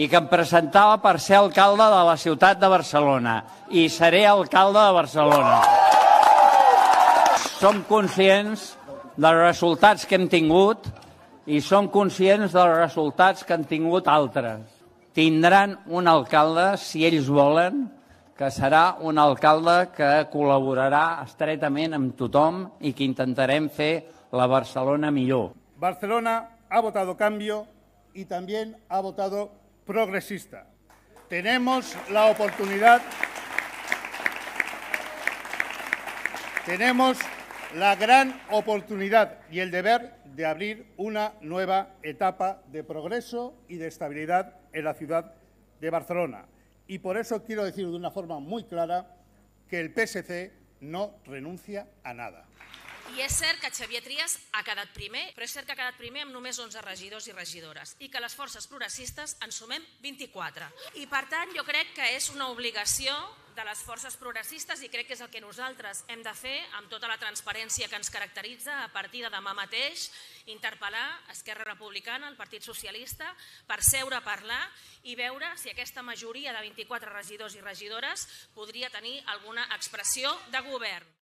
i que em presentava per ser alcalde de la ciutat de Barcelona. I seré alcalde de Barcelona. Som conscients dels resultats que hem tingut i som conscients dels resultats que han tingut altres. Tindran un alcalde, si ells volen, que serà un alcalde que col·laborarà estretament amb tothom i que intentarem fer la Barcelona millor. Barcelona ha votado cambio y también ha votado progresista. Tenemos la oportunidad, tenemos la gran oportunidad y el deber de abrir una nueva etapa de progreso y de estabilidad en la ciudad de Barcelona. Y por eso quiero decir de una forma muy clara que el PSC no renuncia a nada. I és cert que Xavier Trias ha quedat primer, però és cert que ha quedat primer amb només 11 regidors i regidores i que les forces progressistes en sumem 24. I per tant jo crec que és una obligació de les forces progressistes i crec que és el que nosaltres hem de fer amb tota la transparència que ens caracteritza a partir de demà mateix, interpel·lar Esquerra Republicana, el Partit Socialista, per seure a parlar i veure si aquesta majoria de 24 regidors i regidores podria tenir alguna expressió de govern.